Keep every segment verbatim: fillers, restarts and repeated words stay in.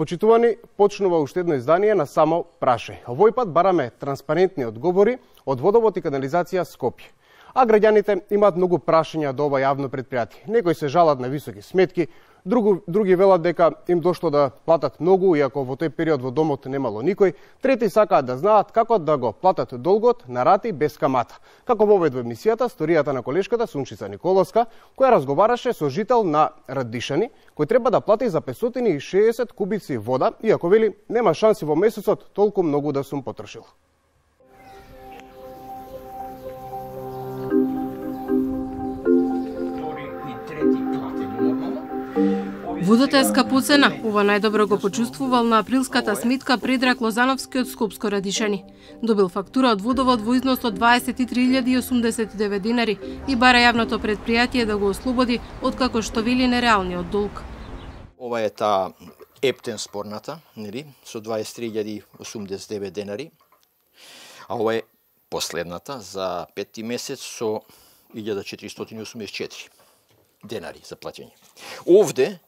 Почитувани, почнува уште едно издание на Само прашај. Овој пат бараме транспарентни одговори од Водовод и канализација Скопје. А граѓаните имаат многу прашања до ова јавно предпријатие. Некои се жалат на високи сметки, Другу, други велат дека им дошло да платат многу, иако во тој период во домот немало никој. Трети сакаат да знаат како да го платат долгот на рати без камата. Како вовед во емисијата сторијата на колешката Сунчица Николовска, која разговараше со жител на Радишани, кој треба да плати за петстотини и шеесет кубици вода, иако вели нема шанси во месецот толку многу да сум потрошил. Водата е скапоцена. Ова најдобро го почувствувал на априлската сметка Предраг Лозановски од Скопско Радишани. Добил фактура од Водовод во износ од дваесет и три илјади и осумдесет и девет динари и бара јавното предпријатие да го ослободи од како што вели нереалниот долг. Ова е таа ептен спорната, нели, со дваесет и три илјади и осумдесет и девет денари. А ова е последната за петти месец со илјада четиристотини и осумдесет и четири денари за плаќање. Овде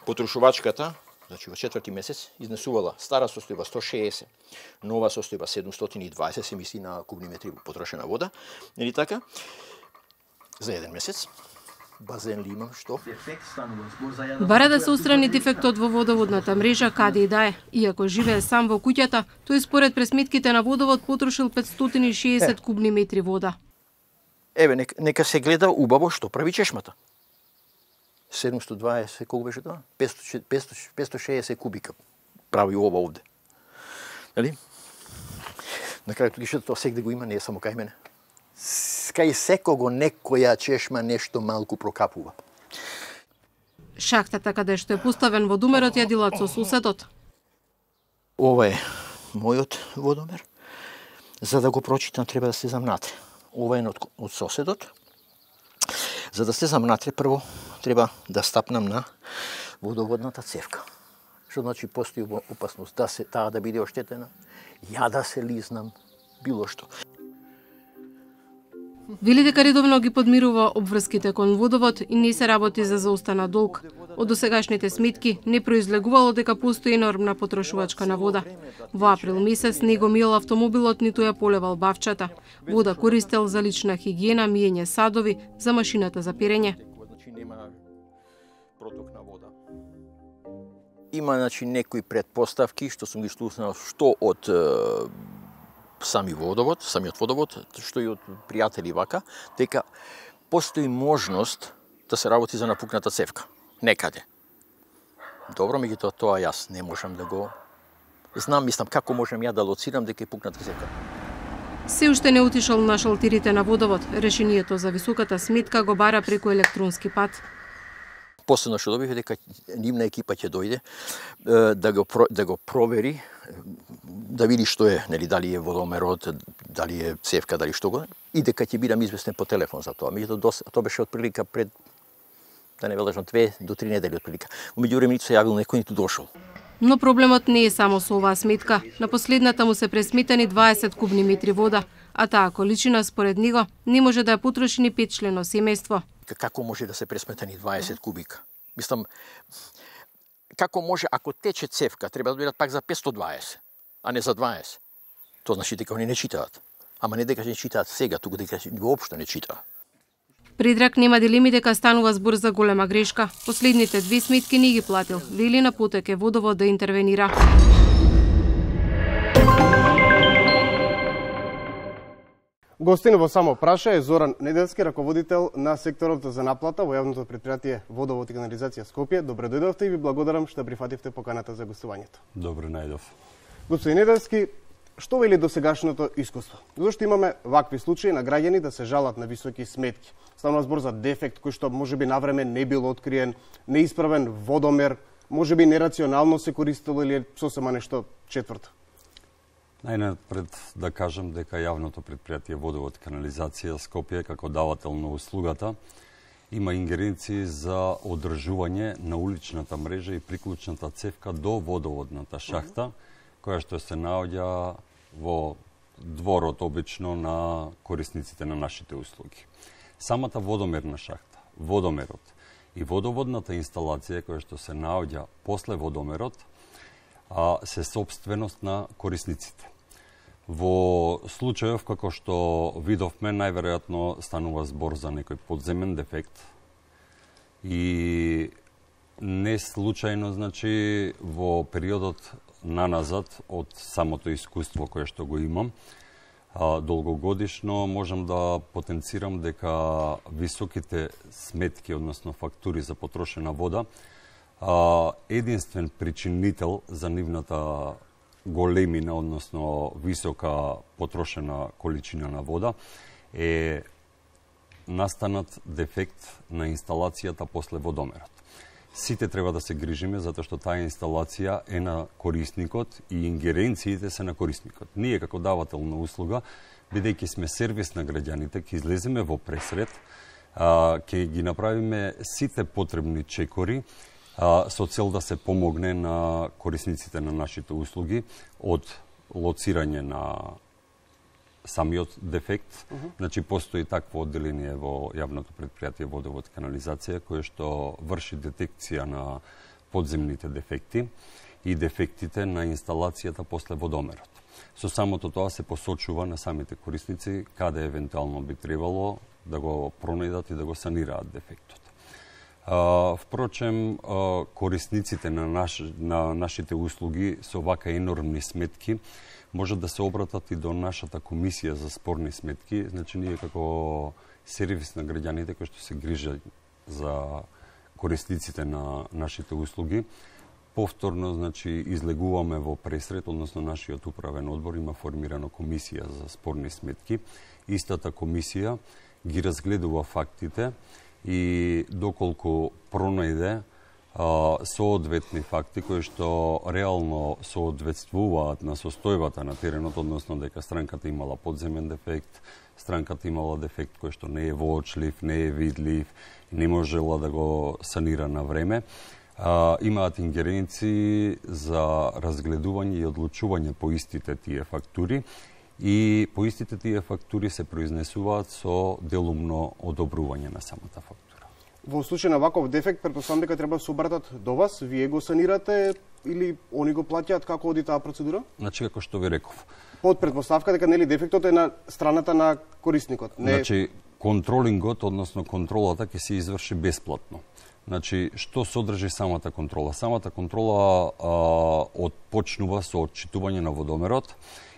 потрошувачката, значи во четврти месец, изнесувала стара состојба сто шеесет, нова состојба седумстотини и дваесет, се мисли на кубни метри потрошена вода, нели така? За еден месец. Базен ли имам, што? Бара да се устрани дефектот во водоводната мрежа каде и да е. Иако живее сам во куќата, тој според пресметките на Водовод потрошил петстотини и шеесет е. Кубни метри вода. Еве, нека, нека се гледа убаво што прави чешмата. седумстотини и дваесет, колку беше тоа? петстотини и шеесет кубика прави ова овде. Нали? На крајот гишето тоа сегде го има, не е само кај мене. Кај секого некоја чешма нешто малку прокапува. Шахтата каде што е поставен водомерот ја делат со суседот. Ова е мојот водомер. За да го прочитам треба да се замнатре. Ова е од, од соседот. За да се замнатре, прво треба да стапнам на водоводната цевка. Што значи постои опасност да се таа да биде оштетена, ја да се лизнам, било што. Вели дека редовно ги подмирува обврските кон Водовод и не се работи за заустана долг. Од досегашните сметки не произлегувало дека постои енормна потрошувачка на вода. Во април месец не го миел автомобилот, ниту ја полевал бавчата. Вода користел за лична хигиена, миење садови, за машината за перење. Има, значи, некои предпоставки што сум ги слушнал што од е, сами водовод, самиот водовод, што и од пријатели вака, дека постои можност да се работи за напукната цевка некаде. Добро, меѓутоа тоа јас не можам да го знам, мислам како можам ја да лоцирам дека е пукната цевка. Се уште не отишол на шалтирите на Водовод. Решението за високата сметка го бара преку електронски пат. Последно што добив дека нивна екипа ќе дојде да го да го провери, да види што е, нели, дали е водомерот, дали е цевка, дали што го, и дека ќе бидам известен по телефон за тоа. Меѓутоа тоа беше отприлика пред, да не вележам, две до три недели отприлика. Во меѓувреме ниту се јавил некој, ниту дошол. Но проблемот не е само со оваа сметка. На последната му се пресметани дваесет кубни метри вода, а таа количина според него не може да ја потроши ни петчлено семејство. Како може да се пресметани дваесет кубика? Мислам, како може, ако тече цевка, треба да дојдат пак за петстотини и дваесет, а не за дваесет. Тоа значи дека они не читаат. Ама не дека не читаат сега, туку дека воопшто не читаат. Предраг нема дилеми дека станува збор за голема грешка. Последните две сметки не ги платил. Вели на потек е Водовод да интервенира. Гостин во Само праша е Зоран Неделски, раководител на секторот за наплата во јавното предпријатие Водовод и канализација Скопје. Добре дојдовте и ви благодарам што прифативте поканата за гостувањето. Добре најдов. Господин Неделски, што вели досегашното искуство? Зошто имаме вакви случаи на граѓани да се жалат на високи сметки? Станува збор за дефект кој што можеби навреме не бил откриен, неисправен водомер, можеби нерационално се користело или сосема нешто четврто. Најнапред да кажам дека јавното предпријатие Водовод и канализација Скопје како давател на услугата има ингеренции за одржување на уличната мрежа и приклучната цевка до водоводната шахта, која што се наоѓа во дворот обично на корисниците на нашите услуги. Самата водомерна шахта, водомерот и водоводната инсталација која што се наоѓа после водомерот а се собственост на корисниците. Во случајов како што видовме, најверојатно станува збор за некој подземен дефект и не случајно, значи, во периодот наназад од самото искуство кое што го имам, долгогодишно можам да потенцирам дека високите сметки, односно фактури за потрошена вода, единствен причинител за нивната големина, односно висока потрошена количина на вода, е настанат дефект на инсталацијата после водомерот. Сите треба да се грижиме, затоа што таа инсталација е на корисникот и ингеренциите се на корисникот. Ние како давател на услуга, бидејќи сме сервис на граѓаните, ќе излеземе во пресред, ќе ги направиме сите потребни чекори, со цел да се помогне на корисниците на нашите услуги од лоцирање на самиот дефект. Uh -huh. Значи, постои такво одделение во јавното предпријатие Водовод канализација, кое што врши детекција на подземните дефекти и дефектите на инсталацијата после водомерот. Со самото тоа се посочува на самите корисници каде евентуално би требало да го пронајдат и да го санираат дефектот. Uh, впрочем, uh, корисниците на, наш, на нашите услуги со вака енормни сметки можат да се обратат и до нашата комисија за спорни сметки. Значи, ние како сервис на граѓаните кои што се грижат за корисниците на нашите услуги, повторно, значи, излегуваме во пресред, односно нашиот управен одбор има формирана комисија за спорни сметки. Истата комисија ги разгледува фактите и доколку пронајде соодветни факти кои што реално соодветствуваат на состојбата на теренот, односно дека странката имала подземен дефект, странката имала дефект кој што не е воочлив, не е видлив, не можела да го санира на време, а, имаат ингеренции за разгледување и одлучување по истите тие фактури и по истите тие фактури се произнесуваат со делумно одобрување на самата фактура. Во случај на ваков дефект, претпоставам дека треба да се обратат до вас, вие го санирате или они го плаќаат, како оди таа процедура? Значи, како што ви реков. Под претпоставка дека нели дефектот е на страната на корисникот. Не... Значи, контролингот, односно контролата, ќе се изврши бесплатно. Значи, што содржи самата контрола? Самата контрола а, отпочнува со отчитување на водомерот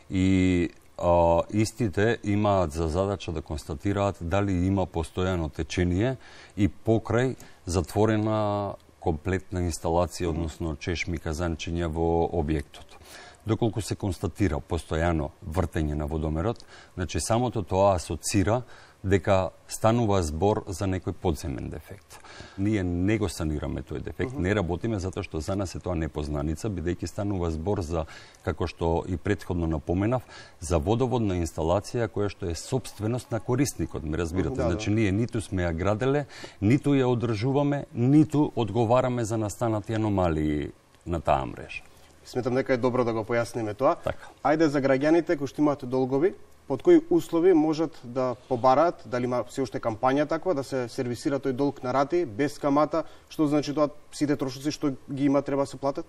и а, истите имаат за задача да констатираат дали има постојано течение и покрај затворена комплетна инсталација, односно чешми, казанчиња во објектот. Доколку се констатира постојано вртење на водомерот, значи самото тоа асоцира дека станува збор за некој подземен дефект. Ние не го санираме тој дефект, uh -huh. не работиме затоа што за нас е тоа непознаница, бидејќи станува збор за, како што и претходно напоменав, за водоводна инсталација која што е собственост на корисникот, ме разбирате. Uh -huh, да, значи ние ниту сме ја граделе, ниту ја одржуваме, ниту одговараме за настанати аномалии на таа мрежа. Сметам дека е добро да го појасниме тоа. Така. Ајде за граѓаните кои што имаат долгови, под кои услови можат да побараат, дали има се уште кампања таква, да се сервисира тој долг на рати, без камата, што значи тоа сите трошоци што ги има треба да се платат?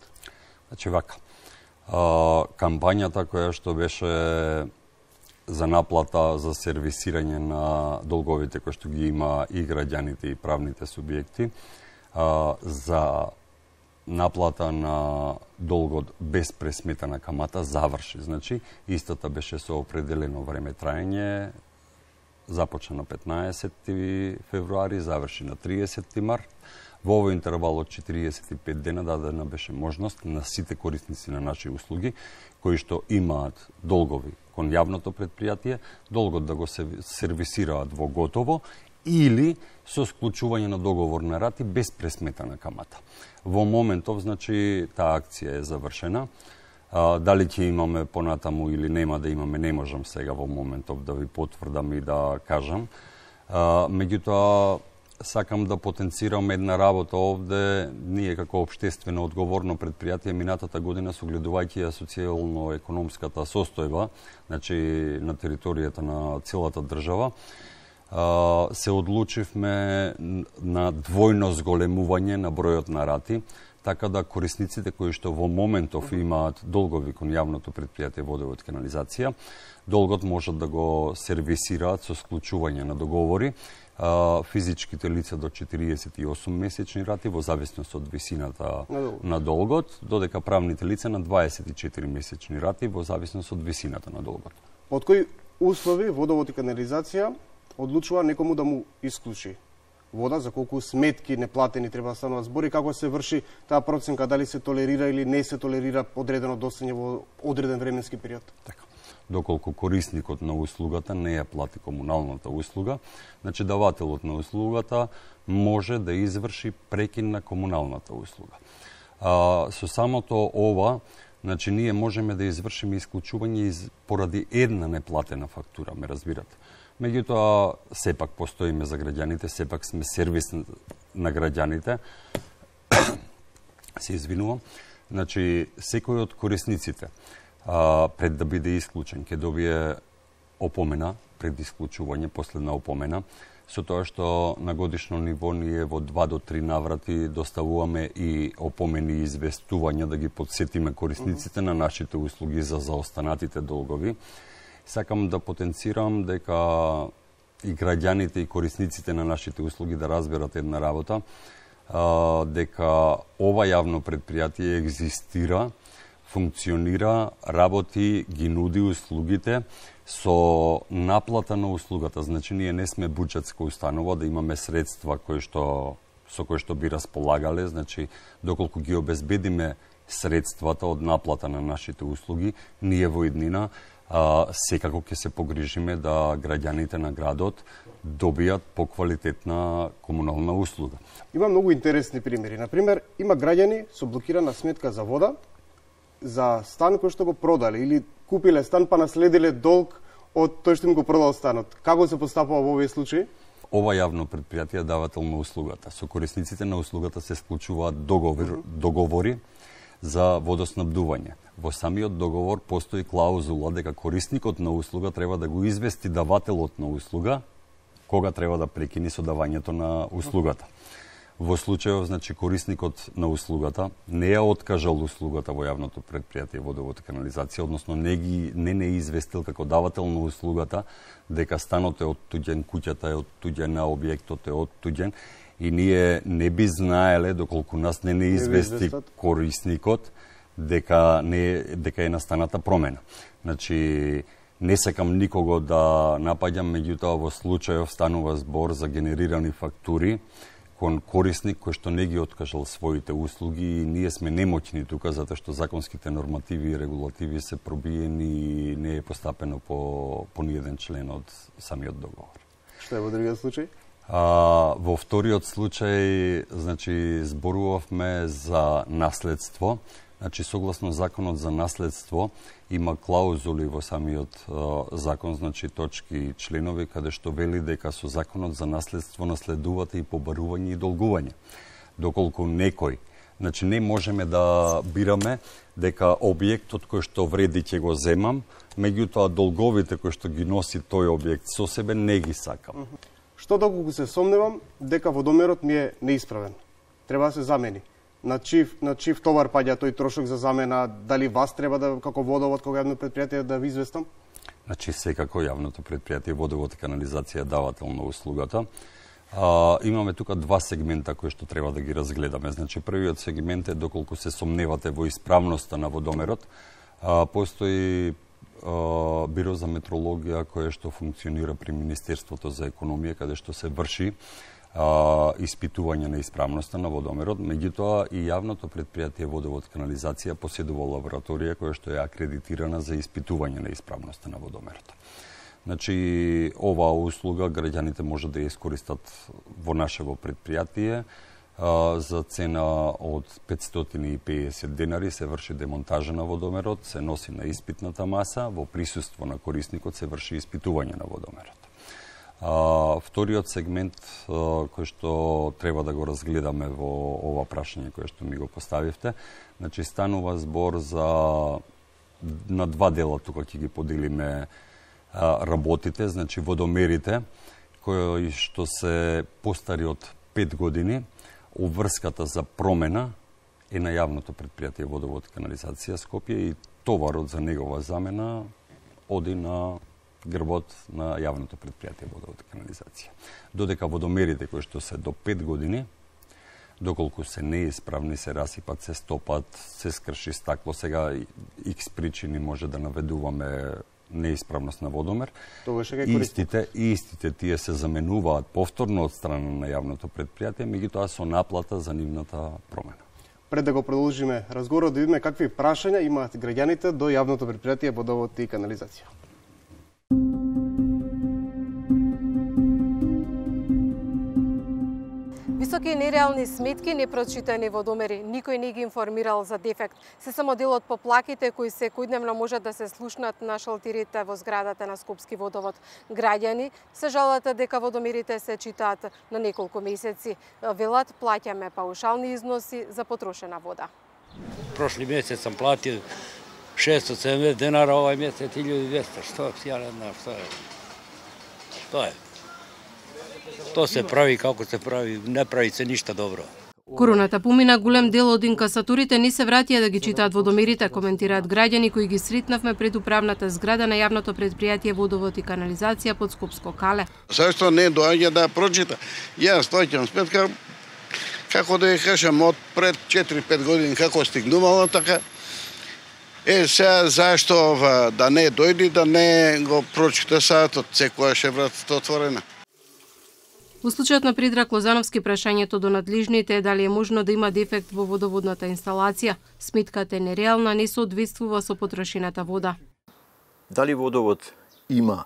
Значи вака, а, кампањата која што беше за наплата, за сервисирање на долговите кои што ги има и граѓаните и правните субјекти, а, за наплата на долгот без пресметана камата заврши. Значи, истата беше со определено време траење, започна на петнаесети февруари, заврши на триесети март. Во овој интервал од четириесет и пет дена дадена беше можност на сите корисници на наши услуги, кои што имаат долгови кон јавното предпријатие, долгот да го сервисираат во готово или со склучување на договор на рати без пресметана камата. Во моментов, значи, таа акција е завршена. А, дали ќе имаме понатаму или нема да имаме, не можам сега во моментов да ви потврдам и да кажам. А, меѓутоа, сакам да потенцирам една работа овде. Ние како општествено одговорно предпријатие минатата година, согледувајќи ја социјално-економската состојба, значи на територијата на целата држава, се одлучивме на двојно зголемување на бројот на рати. така да корисниците кои што во моментов имаат долгови кон јавното предпријатие Водовод и канализација, долгот можат да го сервисираат со склучување на договори. Физичките лица до четириесет и осум месечни рати во зависност од висината на долгот, додека правните лица на дваесет и четири месечни рати во зависност од висината на долгот. Од кои услови Водовод и канализација одлучува некому да му исклучи вода, за колку сметки неплатени треба да станува збор и како се врши таа проценка, дали се толерира или не се толерира одредено достоење во одреден временски период? Така. Доколку корисникот на услугата не ја плати комуналната услуга, значи давателот на услугата може да изврши прекин на комуналната услуга. А, со самото ова, значи ние можеме да извршиме исклучување из, поради една неплатена фактура, ме разбирате. Меѓутоа, сепак постоиме за граѓаните, сепак сме сервис на граѓаните. Се извинувам. Значи, секој од корисниците, а, пред да биде исклучен, ќе добие опомена пред исклучување, последна опомена, со тоа што на годишно ниво ние во два до три наврати доставуваме и опомени и известувања да ги подсетиме корисниците на нашите услуги за заостанатите долгови. Сакам да потенцирам дека и граѓаните и корисниците на нашите услуги да разберат една работа, дека ова јавно предпријатие екзистира, функционира, работи, ги нуди услугите со наплата на услугата. Значи, ние не сме буџетска установа да имаме средства кои што, со кои што би располагале. Значи, доколку ги обезбедиме средствата од наплата на нашите услуги, ние во иднина а, секако ќе се погрижиме да граѓаните на градот добијат поквалитетна комунална услуга. Има многу интересни примери. Например, има граѓани со блокирана сметка за вода, за стан кој што го продале или купиле стан па наследиле долг од тој што им го продал станот. Како се постапува во овие случаи? Ова јавно предпријатие е давател на услугата. Со корисниците на услугата се склучуваат договор, договори за водоснабдување. Во самиот договор постои клаузула дека корисникот на услуга треба да го извести давателот на услуга кога треба да прекини со давањето на услугата. Во случајов, значи, корисникот на услугата не ја откажал услугата во јавното предпријатие Водовод и канализација, односно не ги не не известил како давател на услугата дека станот е оттуѓен, куќата е оттуѓена, објектот е оттуѓен и ние не би знаеле доколку нас не не извести корисникот дека не дека е настаната промена. Значи, не сакам никого да напаѓам, меѓутоа во случајов станува збор за генерирани фактури кон корисник кој што не ги откажал своите услуги и ние сме немоќни тука затоа што законските нормативи и регулативи се пробиени и не е постапено по по ниеден член од самиот договор. Што е во другиот случај? А, во вториот случај, значи, зборувавме за наследство. Значи, согласно законот за наследство, има клаузули во самиот uh, закон, значи точки и членови, каде што вели дека со законот за наследство наследувате и побарување и долгување. Доколку некој, значи не можеме да бираме дека објектот кој што вреди ќе го земам, меѓутоа долговите кои што ги носи тој објект со себе не ги сакам. Што доколку се сомневам дека водомерот ми е неисправен? Треба да се замени. На чив, на чив товар паѓа тој трошок за замена, дали вас треба да, како водовод, како јавно предпријатие, да ви известам? Значи, секако јавното предпријатие Водовод и канализација е давател на услугата. А, имаме тука два сегмента кои што треба да ги разгледаме. Значи, првиот сегмент е доколку се сомневате во исправноста на водомерот. А, постои а, Биро за метрологија кое што функционира при Министерството за економија, каде што се врши Uh, испитување на исправноста на водомерот, меѓутоа и јавното предпријатие Водовод и канализација поседува лабораторија која што е акредитирана за испитување на исправноста на водомерот. Значи, оваа услуга граѓаните може да ја искористат во нашево предпријатие. Uh, за цена од петстотини и педесет денари се врши демонтажа на водомерот, се носи на испитната маса, во присуство на корисникот се врши испитување на водомерот. А, вториот сегмент а, кој што треба да го разгледаме во ова прашање кое што ми го поставивте, значи станува збор за на два дела тука ќе ги поделиме а, работите, значи водомерите кои што се постари од пет години, обврската за промена е на јавното предпријатие Водовод и канализација Скопје и товарот за негова замена оди на грбот на јавното предпријатие Водовод и канализација. Додека водомерите кои што се до пет години, доколку се неисправни, се расипат, се стопат, се скрши стакло, сега икс причини може да наведуваме неисправност на водомер. Истите, истите тие се заменуваат повторно од страна на јавното предпријатие, меѓутоа со наплата за нивната промена. Пред да го продолжиме разговорот, да видиме какви прашања имаат граѓаните до јавното предпријатие Водовод и канализација. Високи и нереални сметки, непрочитани водомери, никој не ги информирал за дефект. Се само дел од поплаките кои секојдневно можат да се слушнат на шалтирите во зградата на Скопски водовод. Граѓани се жалат дека водомерите се читаат на неколку месеци. Велат, плаќаме паушални износи за потрошена вода. Прошли месец сам платил шестоста седумдесет денара, овај месец илјаду и двесте. Што е, ја не знам што е. Тоа е. Тоа се прави како се прави, не прави се ништа добро. Короната помина, голем дел од инкасаторите не се вратија да ги читаат водомерите, коментираат граѓани кои ги сретнавме пред управната зграда на јавното предпријатие Водовод и канализација под Скопско кале. Зашто не доаѓа да прочита? Јас доаѓам сметка како да ја кажам од пред четири-пет години како стигнувало така. Е, сега зашто да не дојди, да не го прочита саатот, секојаш е вратата отворена. Во случајот на Предраг Лозановски, прашањето до надлежните е дали е можно да има дефект во водоводната инсталација. Сметката е нереална, не соодветствува со потрошената вода. Дали водовод има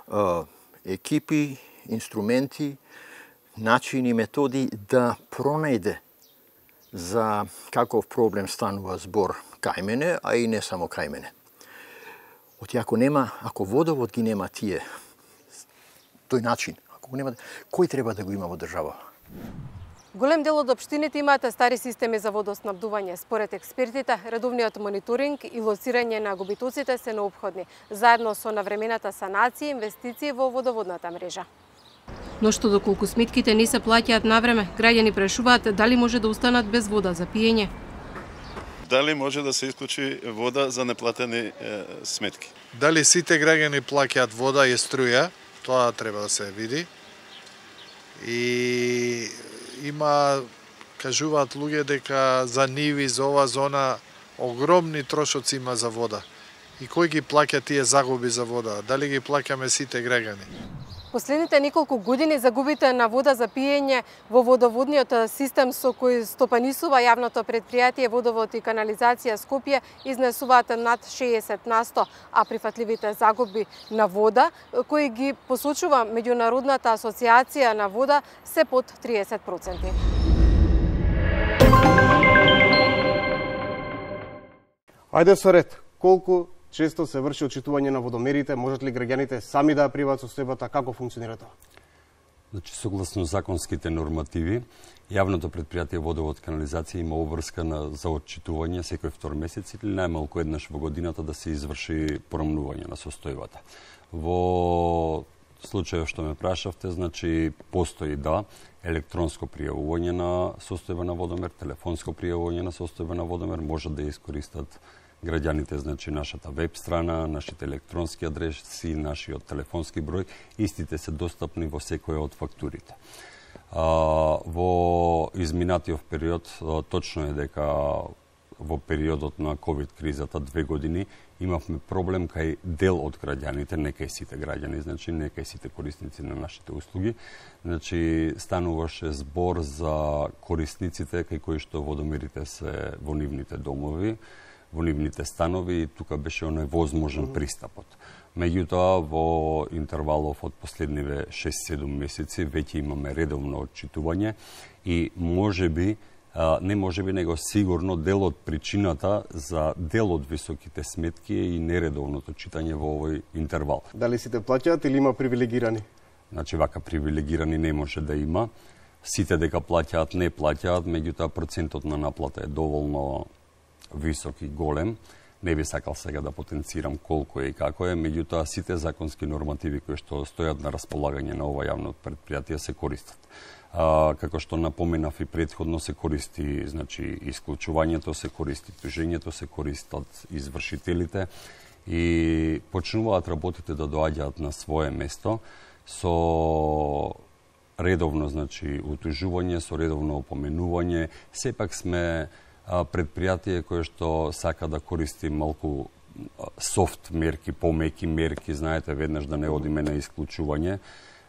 а, екипи, инструменти, начини, методи да пронајде за каков проблем станува збор кај мене, а и не само кај мене. Оти ако нема, ако водовод ги нема тие, тој начин, кој треба да го има во држава? Голем дел од општините имаат стари системи за водоснабдување. Според експертите, редовниот мониторинг и лоцирање на губитоците се неопходни, заедно со навремената санација и инвестиции во водоводната мрежа. Но што доколку сметките не се плаќаат навреме, граѓани прашуваат дали може да останат без вода за пиење. Дали може да се исклучи вода за неплатени е, сметки? Дали сите граѓани плаќаат вода и струја? Тоа треба да се види. И има, кажуваат луѓе дека за ниви, за ова зона, огромни трошоци има за вода. И кој ги плаќа тие загуби за вода? Дали ги плаќаме сите граѓани? Последните неколку години загубите на вода за пиење во водоводниот систем со кој стопанисува јавното предпријатие Водовод и канализација Скопје изнесуваат над шеесет на сто, а прифатливите загуби на вода, кои ги посочува Меѓународната асоциација на вода, се под триесет проценти. Ајде со ред, колку често се врши отчитување на водомерите, можат ли граѓаните сами да ја приват состојбата, како функционира тоа? Значи, согласно законските нормативи, јавното предпријатие Водовод и канализација има обврска на, за отчитување секој втор месец или најмалку еднаш во годината да се изврши порамнување на состојбата. Во случајот што ме прашавте, значи, постои да електронско пријавување на состојба на водомер, телефонско пријавување на состојба на водомер, можат да ја искористат граѓаните, значи нашата веб страна, нашите електронски адреси, нашиот телефонски број, истите се достапни во секоја од фактурите. А, во изминатиот период, точно е дека во периодот на ковид кризата, две години, имавме проблем кај дел од граѓаните, не кај сите граѓани, значи не кај сите корисници на нашите услуги. Значи стануваше збор за корисниците кај кои што водомерите се во нивните домови, во нивните станови и тука беше невозможен пристапот. Меѓутоа, во интервалов од последниве шест-седум месеци веќе имаме редовно отчитување и можеби, не можеби, него сигурно дел од причината за дел од високите сметки и нередовното читање во овој интервал. Дали сите плаќаат или има привилегирани? Значи, вака привилегирани не може да има. Сите дека плаќаат, не плаќаат, меѓутоа процентот на наплата е доволно висок и голем. Не би сакал сега да потенцирам колку е и како е, меѓутоа сите законски нормативи кои што стојат на располагање на ова јавно предпријатие се користат. А, како што напоменав и претходно, се користи, значи, исклучувањето, се користи тужењето, се користат извршителите и почнуваат работите да доаѓаат на свое место со редовно, значи, утужување, со редовно опоменување. Сепак сме предпријатие кое што сака да користи малку софт мерки, помеки мерки, знаете, веднаш да не одиме на исклучување.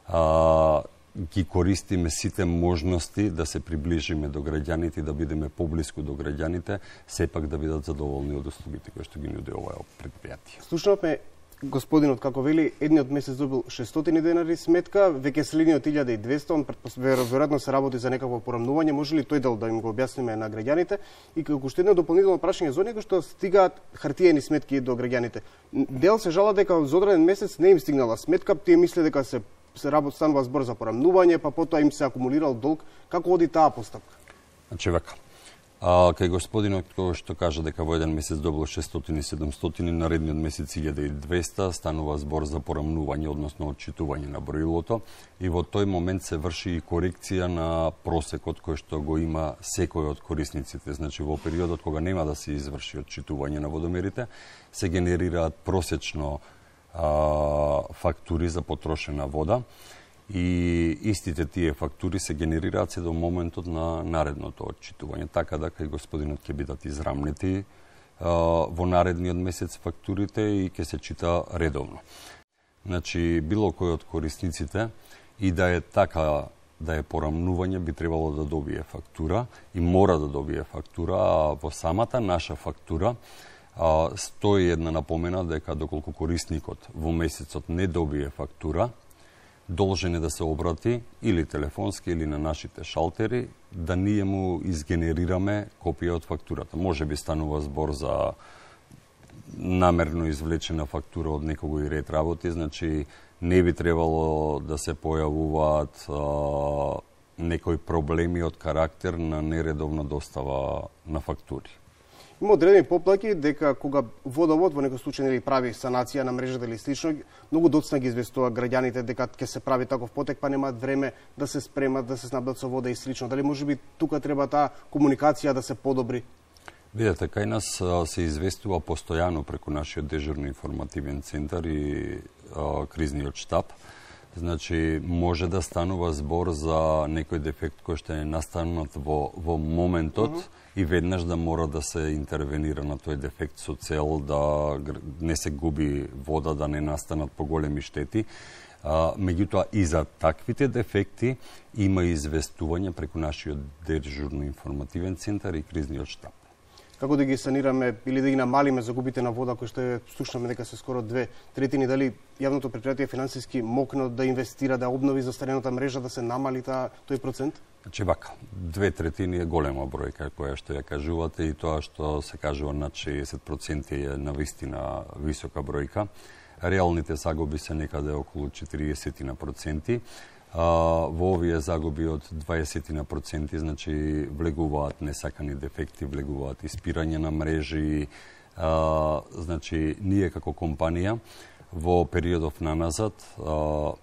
А, ги користиме сите можности да се приближиме до граѓаните и да бидеме поблиску до граѓаните, сепак да бидат задоволни од услугите кои што ги нуди ова предпријатие. Слушнавме господинот како вели, едниот месец добил шестстотини денари сметка, веќе следниот илјада и двесте, он веројатно се работи за некакво порамнување, може ли тој дел да им го објасниме на граѓаните? И како уште едно дополнително прашање за оние кои што стигаат хартиени сметки до граѓаните. Дел се жала дека за одреден месец не им стигнала сметка, тие мисле дека се се работ станува збор за порамнување, па потоа им се акумулирал долг. Како оди таа постапка? Значи вака. А, кај господинот кој што кажа дека во еден месец добил шестстотини седумстотини, наредниот месец илјада и двесте, станува збор за порамнување, односно отчитување на броилото, и во тој момент се врши и корекција на просекот кој што го има секој од корисниците. Значи во периодот кога нема да се изврши отчитување на водомерите, се генерираат просечно а, фактури за потрошена вода, и истите тие фактури се генерираат се до моментот на наредното отчитување, така да кај господинот ќе бидат израмнети а, во наредниот месец фактурите и ќе се чита редовно. Значи, било кој од корисниците, и да е така, да е порамнување, би требало да добие фактура и мора да добие фактура, а во самата наша фактура а, стои една напомена дека доколку корисникот во месецот не добие фактура, должен е да се обрати или телефонски или на нашите шалтери, да ние му изгенерираме копија од фактурата. Може би станува збор за намерно извлечена фактура од некој ред работи, значи не би требало да се појавуваат а, некои проблеми од карактер на нередовна достава на фактури. Има одредени поплаки дека кога водовод во некој случај нели прави санација на мрежата или слично, многу доцна ги известува граѓаните дека ќе се прави таков потек, па немаат време да се спремат, да се снабдат со вода и слично. Дали можеби тука треба таа комуникација да се подобри? Видете, кај нас се известува постојано преку нашиот дежурни информативен центар и а, кризниот штаб. Значи, може да станува збор за некој дефект кој што е настанат во, во моментот, mm -hmm. и веднаш да мора да се интервенира на тој дефект со цел да не се губи вода, да не настанат поголеми штети. А, меѓутоа, и за таквите дефекти има известување преку нашиот дежурно-информативен центар и кризниот штаб. Како да ги санираме или да ги намалиме загубите на вода, кои што е, слушнаме дека се скоро две третини, дали јавното предпријатие финансиски мокно да инвестира, да обнови застарената мрежа, да се намали та, тој процент? Значи вака, две третини е голема бројка која што ја кажувате, и тоа што се кажува над шеесет проценти е навистина висока бројка. Реалните загуби се некаде околу четириесет проценти. Uh, во овие загуби од дваесет проценти, значи влегуваат несакани дефекти, влегуваат испирање на мрежи. Uh, значи, ние како компанија во периодов наназад uh,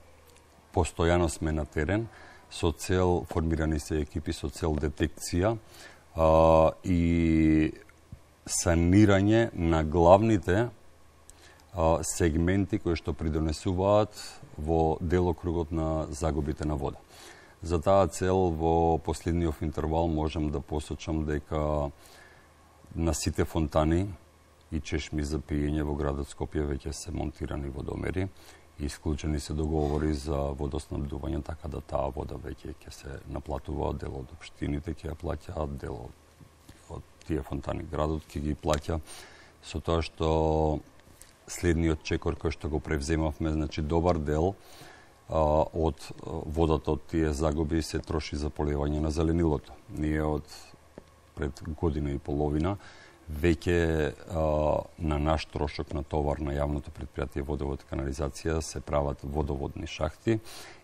постојано сме на терен со цел, формирани се екипи со цел детекција uh, и санирање на главните uh, сегменти кои што придонесуваат во делокругот на загубите на вода. За таа цел во последниот интервал можам да посочам дека на сите фонтани и чешми за пиење во градот Скопје веќе се монтирани водомери и исклучени се договори за водоснабдување, така да таа вода веќе ќе се наплатува, дел од општините ќе ја плаќаат, дел од тие фонтани градот ќе ги плаќа, со тоа што следниот чекор кој што го превземавме, значи добар дел а, од водата од тие загуби се троши за поливање на зеленилото. Ние од пред година и половина веќе на наш трошок на товар на јавното предпријатие Водовод и канализација се прават водоводни шахти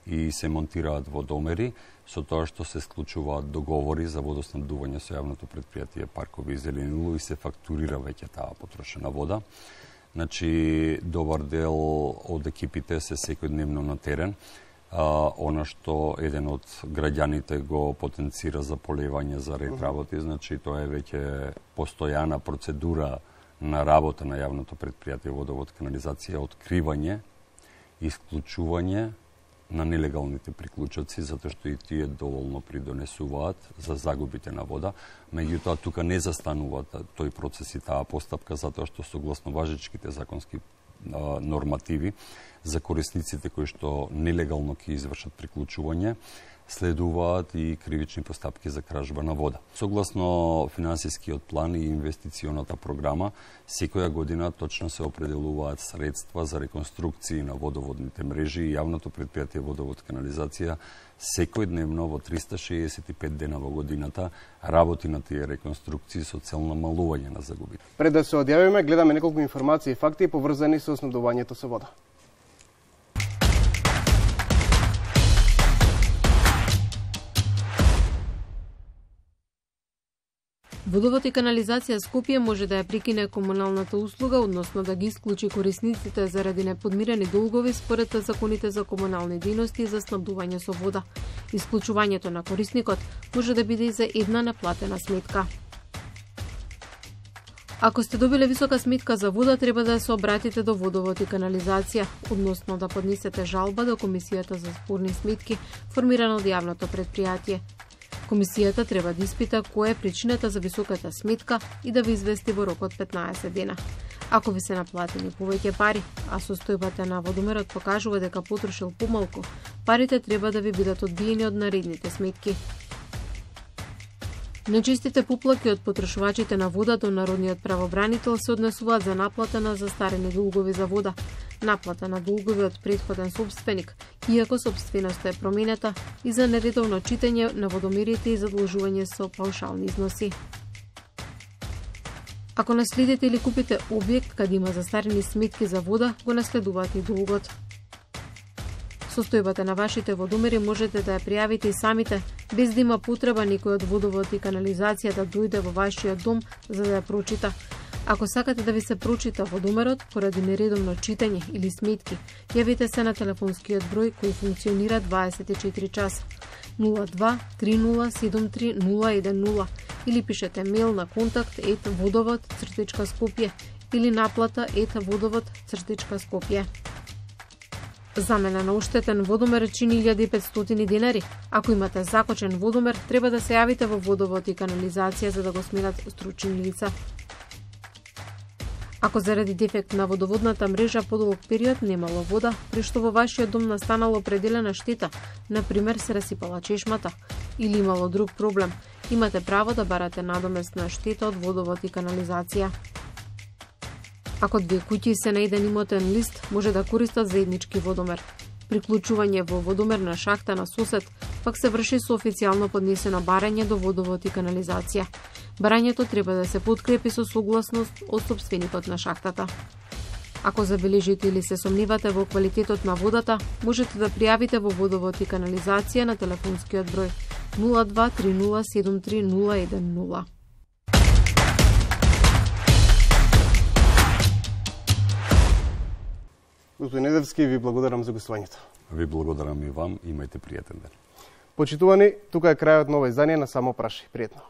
и се монтираат водомери, со тоа што се склучуваат договори за водоснабдување со јавното предпријатие Паркови и Зеленило и се фактурира веќе таа потрошена вода. Значи, добар дел од екипите се секојдневно на терен. А, она што еден од граѓаните го потенцира за полевање за ред работи, значи тоа е веќе постојана процедура на работа на јавното предпријатие Водовод и канализација, откривање, исклучување на нелегалните приклучоци, затоа што и тие доволно придонесуваат за загубите на вода. Меѓутоа, тука не застанува тој процес и таа постапка, затоа што согласно важечките законски а, нормативи за корисниците кои што нелегално ќе извршат приклучување, следуваат и кривични постапки за кражба на вода. Согласно финансискиот план и инвестиционата програма, секоја година точно се определуваат средства за реконструкции на водоводните мрежи и јавното предпријатие Водовод и канализација секојдневно во триста шеесет и пет дена во годината работи на тие реконструкции со цел намалување на загубите. Пред да се одјавиме, гледаме неколку информации и факти поврзани со снабдувањето со вода. Водовод и канализација Скопје може да ја прекине комуналната услуга, односно да ги исклучи корисниците заради неподмирени долгови според законите за комунални дејности за снабдување со вода. Исклучувањето на корисникот може да биде и за една неплатена сметка. Ако сте добиле висока сметка за вода, треба да се обратите до Водовод и канализација, односно да поднесете жалба до Комисијата за спорни сметки, формирана од јавното предпријатие. Комисијата треба да испита која е причината за високата сметка и да ви извести во рок од петнаесет дена. Ако ви се наплатени повеќе пари, а состојбата на водомерот покажува дека потрошил помалку, парите треба да ви бидат одбиени од наредните сметки. Нечистите поплаки од потрошувачите на вода до народниот правобранител се однесуваат за наплата на застарени долгови за вода, наплата на долгови од претходен собственик, иако собственоста е променета, и за нередовно читање на водомерите и задолжување со паушални износи. Ако наследите или купите објект каде има застарени сметки за вода, го наследуваат и долгот. Состојбата на вашите водомери можете да ја пријавите и самите, без да има потреба некој од Водовод и канализација да дојде во вашиот дом за да ја прочита. Ако сакате да ви се прочита водомерот поради нередовно читање или сметки, јавите се на телефонскиот број кој функционира дваесет и четири часа нула два три нула седум три нула еден нула или пишете мејл на контакт ет водовод цртичка скопје или наплата ет водовод цртичка скопје. Замена на оштетен водомер чини илјада и петстотини денари. Ако имате закочен водомер, треба да се јавите во Водовод и канализација за да го сменат стручни лица. Ако заради дефект на водоводната мрежа подолг период немало вода, при што во вашиот дом настанала определена штета, например се расипала чешмата, или имало друг проблем, имате право да барате надоместна штета од Водовод и канализација. Ако две куќи се на еден имотен лист, може да користат заеднички водомер. Приклучување во водомерна шахта на сосед пак се врши со официјално поднесено барање до Водовод и канализација. Барањето треба да се подкрепи со согласност од собственикот на шахтата. Ако забележите или се сомневате во квалитетот на водата, можете да пријавите во Водовод и канализација на телефонскиот број нула два три нула седум три нула еден нула. Господин Недевски, ви благодарам за гостувањето. Ви благодарам и вам, имајте пријатен ден. Почитувани, тука е крајот на ова издание на Само прашај. Пријатно.